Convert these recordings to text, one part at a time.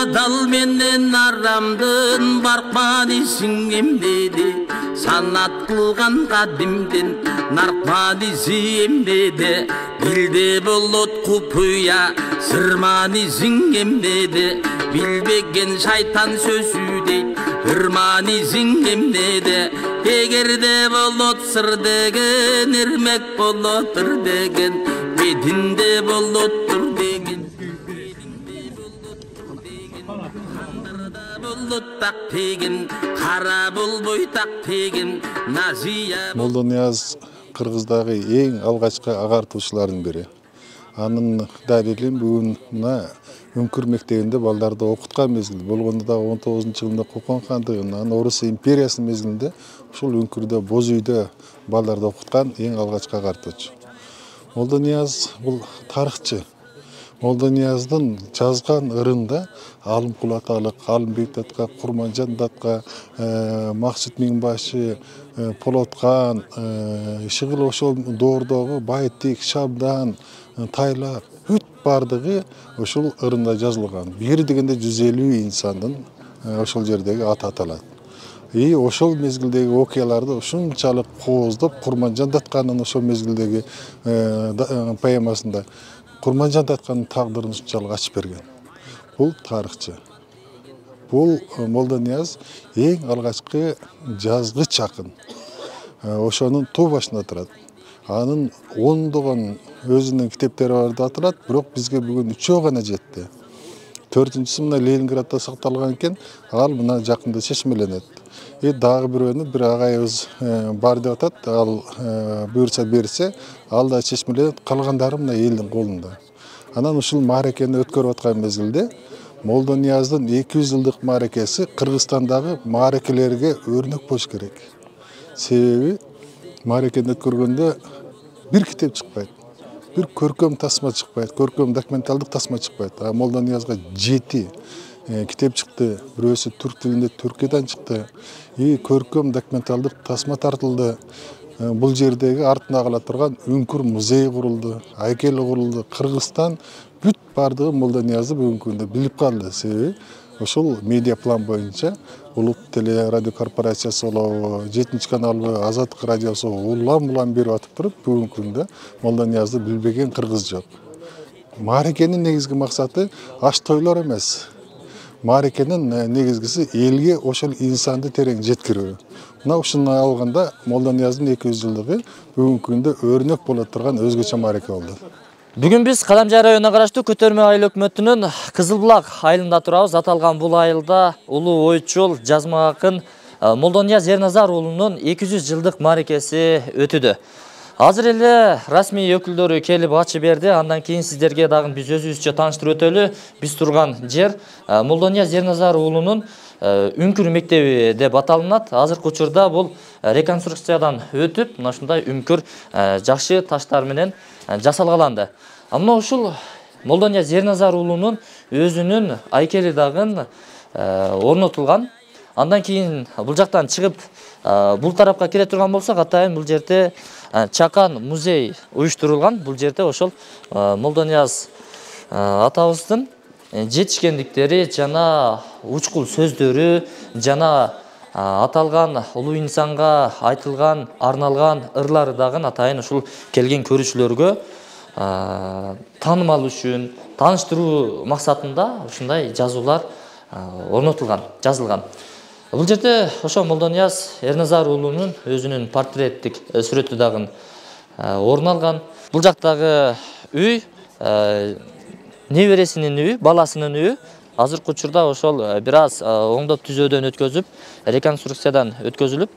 адал менен арамдын баркмадысың эмнеде санат кылган кадимден наркмадысы эмнеде билде болот купуя сырманысың эмнеде билбеген шайтан сөзү дейт ырманысың эмнеде эгерде болот сыр деген эрмек болот ыр деген бетинде болоттур деген так tegen кара болбой так tegen Назия Молдонияз Кыргыздагы эң алгачкы агартуучулардын бири. Анын далилин бүгүн мына Үңкүр мектебинде балдарды окуткан мезгил болгондо да 19-жылында Кокон хандыгынан Орус империясынын мезгилинде ушул Үңкүрдө боз үйдө балдарды окуткан эң алгачкы агартуучу. Молдонияз бул тарыхчы. Молдонияздын жазган ырында Алымкул аталык, Алымбек датка, Курманжан датка, Максут Миңбашы, Полоткан, Шыгыл ошол доордогу Байтик, Шабдан, Тайлак бүт бардыгы ошол ырында жазылган. Бир дегенде 150 инсандын ошол жердеги аты аталат. Ошол мезгилдеги окуяларды ушунчалык кооздоп Курманжан датканын ошол мезгилдеги поэмасында Курманжан датканын тагдырын ушунчалык ачып берген. Бул тарыхчы. Бул Молдонияз эң алгачкы жазгыч акын. Ошонун тоо башында турат. Анын ондогон өзүнүн китептери бар деп аталат, бирок бизге бүгүн 3 гана жетти. 4-сү мына Ленинградда сакталган экен, ал мына жакында чечмеленет. Дагы бирөөнү бир агайыбыз бар деп атат, ал буйрса берсе, ал да чечмеленет, калгандары мына элдин колунда. Анан ушул мааракени өткөрүп аткан мезгилде Молдонияздын 200 жылдык мааракеси Кыргызстандагы мааракелерге өрнөк болуш керек. Себеби мааракени өткөргөндө бир китеп чыкпайт, бир көркөм тасма чыкпайт, көркөм документалдык тасма чыкпайт. А Молдониязга 7 китеп чыкты, бирөөсү түрк тилинде Түркиядан чыкты. Көркөм документалдык тасма тартылды. Бул жердеги артына кала турган Үңкүр музей курулду, айкел курулду. Кыргызстан бүт бардыгы Молдониязды бүгүнкү күндө билип калды. Себеби ошол медиа план боюнча Улут теле радио корпорациясы болобу, 7-каналбы, Азаттык радиосу улам берип атып туруп, бүгүнкү күндө Молдониязды билбеген кыргыз жок. Мааракенин негизги максаты аш тойлор эмес. Мааракенин негизгиси элге ошол инсанды терең жеткирүү. Мына ушуну алганда Молдонияздын 200 жылдыгы бүгүнкү күндө өрнөк боло турган өзгөчө маараке болду. Бүгүн биз Кадамжай районуна караштуу Көтөрмө айыл өкмөтүнүн Кызыл Булак айылында турабыз. Аталган бул айылда улуу ойчул, жазма акын Молдонияз Эрназар уулунун 200 жылдык мааракеси өтүүдө. Азыр эле расмий өкүлдөрү келип ачып берди. Андан кийин сиздерге дагы биз өзүбүзчө тааныштырып өтөлү. Биз турган жер Молдонияз Эрназар уулунун Үңкүр мектеби деп аталынат. Азыркы учурда бул реконструкциядан өтүп, мына ушундай Үңкүр жакшы таштар менен жасалгаланды. Мына ушул Молдонияз Эрназар уулунун өзүнүн айкели дагы орнотулган. Андан кийин бул жактан чыгып бул тарапка кире турган болсок, атайын бул жерде чакан музей уюштурулган. Бул жерде ошол Молдонияз атабыздын жетишкендиктери жана учкул сөздөрү жана аталган улуу инсанга айтылган, арналган ырлары дагы атайын ушул келген көрүүчүлөргө таанымал үчүн, тааныштыруу максатында ушундай жазуулар орнотулган, жазылган. Бул жерде ошо Молдонияз Эрназар уулунун өзүнүн портреттик сүрөтү дагы орун алган. Бул жактагы үй небересинин үйү, баласынын үйү. Азыркы учурда ошол бир аз оңдоп түзөөдөн өткөзүп, реконструкциядан өткөзүлүп,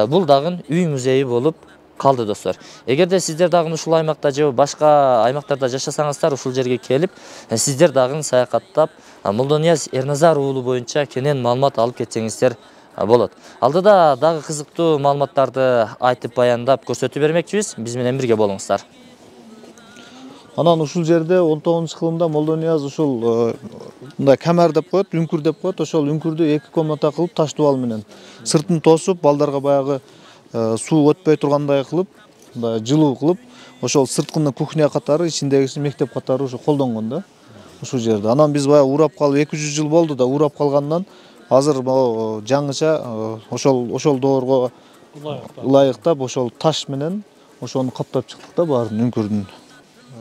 бул дагы үй музейи болуп калды достор. Эгерде сиздер дагы ушул аймакта же башка аймактарда жашасаңыздар, ушул жерге келип, сиздер дагы саякаттап, Молдонияз Эрназар уулу боюнча кенен маалымат алып кетсеңиздер болот. Алдыда дагы кызыктуу маалыматтарды айтып баяндап көрсөтүп бермекчибиз. Биз менен бирге болуңуздар. Анан ушул жерде 19-кылымда Молдонияз ушул мындай камер деп коет, Үңкүр деп коет. Ошол Үңкүрдү 2 комната кылып, таш дубал менен сыртын тосуп, балдарга баягы суу өтпөй тургандай кылып, мындай жылуу кылып, ошол сырткыны кухня катары, ичиндегиси мектеп катары ушу колдонгон да. ушул жерде. Анан биз баягы урап калып 200 жыл болду да урап калгандан азыр жаңыча ошол доорго ылайыктап ошол таш менен ошону каптап чыктык да баарын үңкүрдүн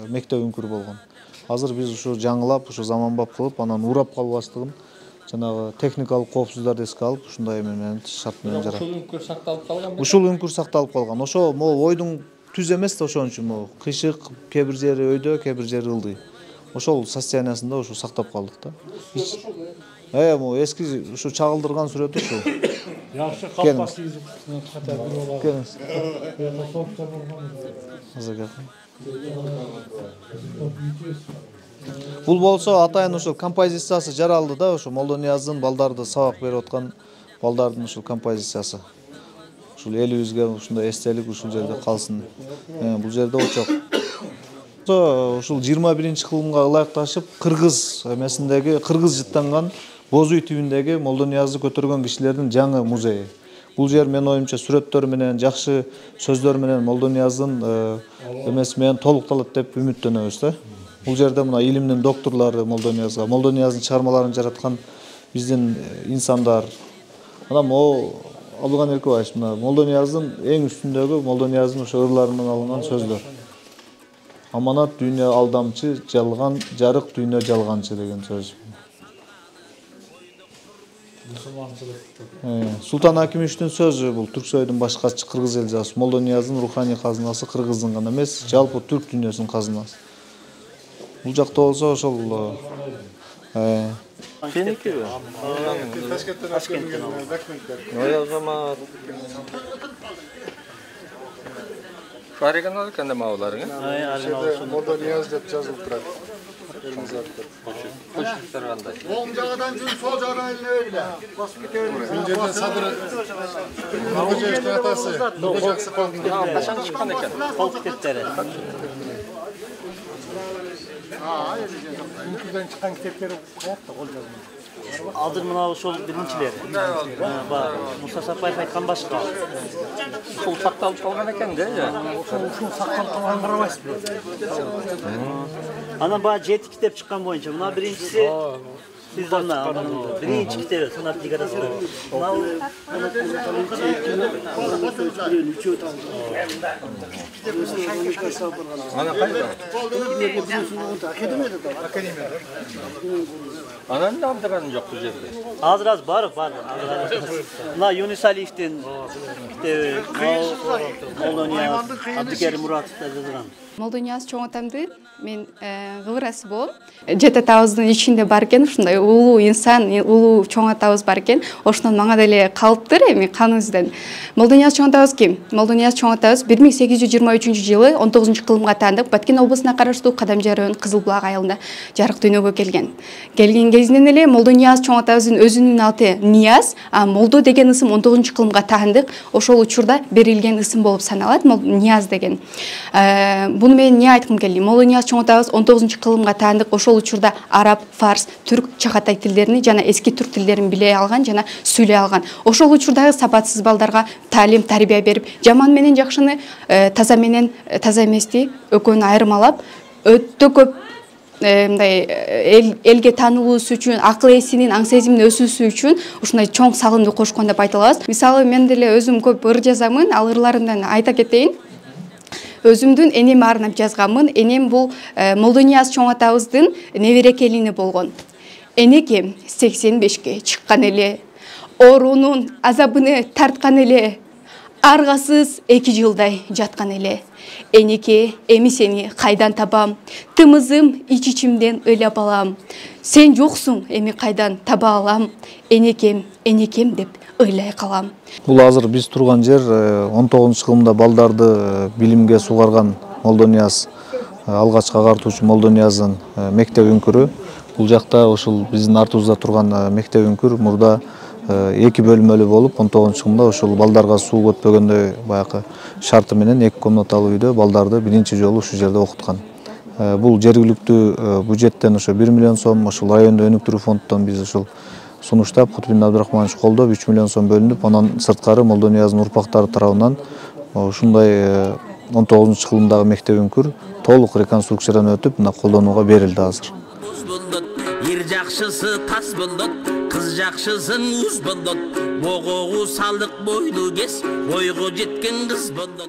мектеп үңкүрү болгон. Азыр биз ушу жаңылап, ушу заманбап кылып, анан урап калбастыгын жанагы техникалык коопсуздарды эске алып, ушундай менен шарт менен жарат. Ушул үңкүр сакталып калган. Ушул үңкүр сакталып калган. Ошо могу ойдун түз эмес да, ошон үчүн могу кыйшык, кээ бир жери өйдө, кээ бир жери ылдый. Ошол состояниясында ушу сактап калдык да. Могу эски ушу чагылдырган сүрөтү ушул. Жакшы калпак кийип Бул болсо атайын ушул композициясы жаралды да, ошо Молдонияздын балдарды сабак берип аткан балдардын ушул композициясы. Ушул элибизге ушундай эстелик ушул жерде калсын. Бул жерде очок. Ушул 21-кылымга ылайыкташып кыргыз эмесиндеги кыргыз жыттанган Боз үй түбүндөгү Молдониязды көтөргөн кишилердин жаңы музейи. Бул жер менин оюмча сүрөттөр менен, жакшы сөздөр менен Молдонияздын эмеси менен толукталат деп үмүттөнөбүз да. Бул жерде мына илимдин докторлору Молдонияздын чыгармаларын жараткан биздин инсандар. Мына могу Абылган Эркебаевич мына Молдонияздын эң үстүндөгү Молдонияздын ошо ырларынан алынган сөздөр. Аманат дүйнө алдамчы, жалган жарык дүйнө жалганчы деген сөз. Султан Акимовичтин сөзү бул Түрксөйдүн башкачы кыргыз эл жазып, Молдонияздын руханий казынасы кыргыздын гана эмес, жалпы түрк дүйнөсүнүн казынасы. Бул жакта болсо ошол Сеникиби? Ташкенттен документтер. Оригинал экен да мааларың, Молдонияз деп жазылып турат. Кошуктар кандай? Оң жагынан жүрүп, сол жагынан эле. Басып кетебиз. Бул жерде Садыр Нуркожоевдин атасы Нуркожаксы полктун. Качан чыккан экен? Полк китептери. Үңкүрдөн чыккан китептери каякта кол жазма. Азыр мына ошол биринчилер. Муса Сапаев айткан башка. Ушул сакталып калган экен да. Ушул сакталып калганын карабайсызбы? Анан баягы 7 китеп чыккан боюнча. Мына биринчиси Сиздана биринчи китеби санат лигарасы. Ана кайда? Анан да алдырган жок бул жерде. Азыр бар. Мына Юнус Алиевдин китеби, Молдонияз, Абдыкерим Муратов жазган. Молдонияз чоң атамды мен кыбырасы болом. Жети атабыздын ичинде бар экен, ушундай улуу инсан, улуу чоң атабыз бар экен. Ошондон мага деле калыптыр эми каныбыздан. Молдонияз чоң атабыз ким? Молдонияз чоң атабыз 1823-жылы 19-кылымга таандык Баткен облусуна караштуу Кадамжар районунун Кызылбулак айылында жарык дүйнөгө келген. Келген кезинен эле Молдонияз чоң атабыздын өзүнүн аты Нияз, а Молдо деген ысым 19-кылымга таандык. Ошол учурда берилген ысым болуп саналат, Нияз деген. Буну мен эмне айткым келди? Молдонияз чоң атабыз 19-кылымга таандык. Ошол учурда араб, фарс, түрк, чакатай тилдерин жана эски түрк тилдерин биле алган жана сүйлөй алган. Ошол учурдагы сапатсыз балдарга таалим, тарбия берип, жаман менен жакшыны, таза менен таза эмести экөөнү айырмалап, өтө көп мындай элге таанылуусу үчүн, акыл эсинин, аң сезиминин өсүүсү үчүн ушундай чоң салымды кошкон деп айта алабыз. Мисалы мен деле өзүм көп ыр жазамын, ал ырларымдан айта кетейин. Өзүмдүн энем арнап жазганмын. Энем бул Молдонияз чоң атабыздын небере келини болгон. Энеке 85ке чыккан эле, оорунун азабыны тарткан эле, аргасыз 2 жылдай жаткан эле. Энеке, эми сени кайдан табам? Тымызым ич-ичимден ыйлап алам. Сен жоксуң, эми кайдан таба алам? Энекем, энекем деп ыйлай калам. Бул азыр биз турган жер 19-кылымда балдарды билимге сугарган Молдонияз, алгачкы агартуучу Молдонияздын мектеп үңкүрү. Бул жакта ушул биздин артыбызда турган мектеп үңкүр мурда 2 бөлмөлүү болуп, 19-кылымда ушул балдарга суу өтпөгөндөй баягы шарты менен 2 комнаталуу үйдө балдарды биринчи жолу ушул жерде окуткан. Бул жергиликтүү бюджеттен ошо 1 миллион сом, ошол райондо өнүктүрүү фондунан биз ушул сунуштап, Кутбин Абдрахманович колдоп 3 миллион сом бөлүнүп, анан сырткары Молдонияздын урпактары тарабынан ушундай 19-кылымдагы мектеп үңкүр толук реконструкциядан өтүп, мына колдонууга берилди азыр. туз болот. Ер жакшысы таз болот, кыз жакшысын уз болот. Богогу салдык бойлу кес, бойго жеткен кыз болот.